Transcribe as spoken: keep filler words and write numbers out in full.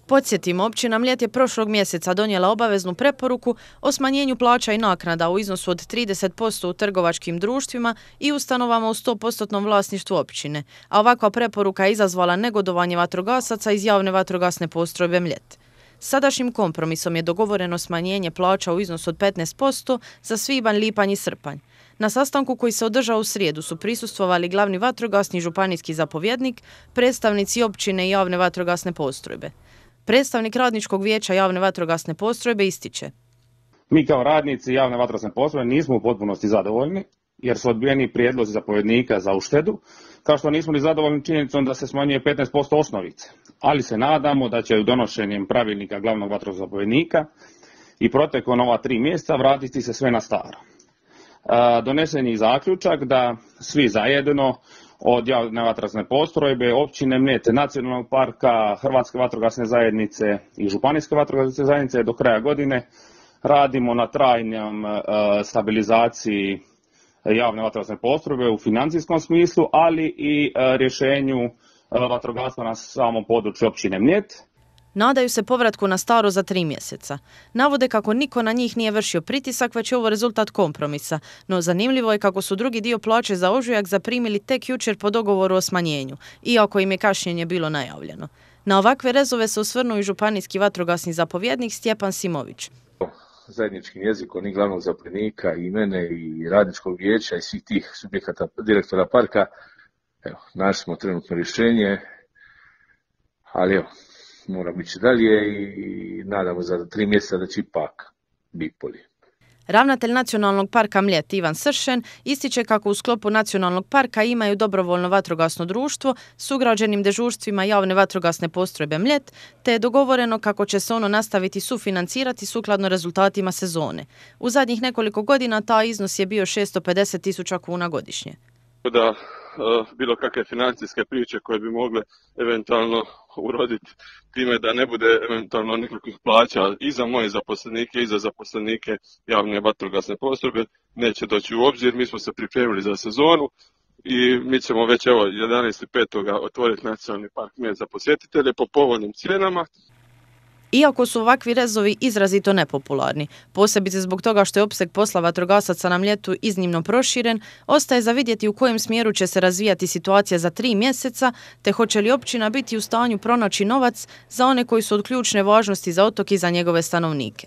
Podsjetimo, općina Mljet je prošlog mjeseca donijela obaveznu preporuku o smanjenju plaća i naknada u iznosu od trideset posto u trgovačkim društvima i ustanovama u sto posto vlasništvu općine, a ovakva preporuka je izazvala negodovanje vatrogasaca iz javne vatrogasne postrojbe Mljet. Sadašnjim kompromisom je dogovoreno smanjenje plaća u iznosu od petnaest posto za svibanj, lipanj i srpanj. Na sastanku koji se održao u srijedu su prisustvovali glavni vatrogasni županijski zapovjednik, predstavnici općine i javne vatrogasne postrojbe. Predstavnik radničkog vijeća javne vatrogasne postrojbe ističe: Mi kao radnici javne vatrogasne postrojbe nismo u potpunosti zadovoljni jer su odbijeni prijedlozi zapovjednika za uštedu, kao što nismo ni zadovoljni činjenicom da se smanjuje petnaest posto osnovice, ali se nadamo da će donošenjem pravilnika glavnog vatrogasnog zapovjednika i protekom ova tri mjeseca vratiti se sve na staro. Donesen je zaključak da svi zajedno od javne vatrogasne postrojbe, općine Mljet, nacionalnog parka, Hrvatske vatrogasne zajednice i županijske vatrogasne zajednice do kraja godine radimo na trajnom stabilizaciji javne vatrogasne postrojbe u financijskom smislu, ali i rješenju vatrogastva na samom području općine Mljet. Nadaju se povratku na staro za tri mjeseca. Navode kako niko na njih nije vršio pritisak, već je ovo rezultat kompromisa, no zanimljivo je kako su drugi dio plaće za ožujak zaprimili tek jučer po dogovoru o smanjenju, iako im je kašnjenje bilo najavljeno. Na ovakve rezove se osvrnuo i županijski vatrogasni zapovjednik Stjepan Simović. Zajedničkim jezikom i glavnog zapovjednika i mene i radničkog vijeća i svih tih subjekata direktora parka, evo, našli smo trenutno rješenje, ali evo, moramo ići dalje i nadamo za tri mjeseca da će ipak biti bolje. Ravnatelj Nacionalnog parka Mljet Ivan Sršen ističe kako u sklopu Nacionalnog parka imaju dobrovoljno vatrogasno društvo s ugrađenim dežurstvima javne vatrogasne postrojbe Mljet, te je dogovoreno kako će se ono nastaviti sufinancirati sukladno rezultatima sezone. U zadnjih nekoliko godina taj iznos je bio šesto pedeset tisuća kuna godišnje. Da bilo kakve financijske priče koje bi mogle eventualno uroditi time da ne bude eventualno nikakvih plaća i za moje zaposlenike i za zaposlenike javne vatrogasne postrojbe neće doći u obzir. Mi smo se pripremili za sezonu i mi ćemo već evo jedanaestog petog otvoriti Nacionalni park Mljet za posjetitelje po povoljnim cijenama. Iako su ovakvi rezovi izrazito nepopularni, posebice zbog toga što je opseg posla vatrogasaca na Mljetu iznimno proširen, ostaje za vidjeti u kojem smjeru će se razvijati situacija za tri mjeseca, te hoće li općina biti u stanju pronaći novac za one koji su od ključne važnosti za otok i za njegove stanovnike.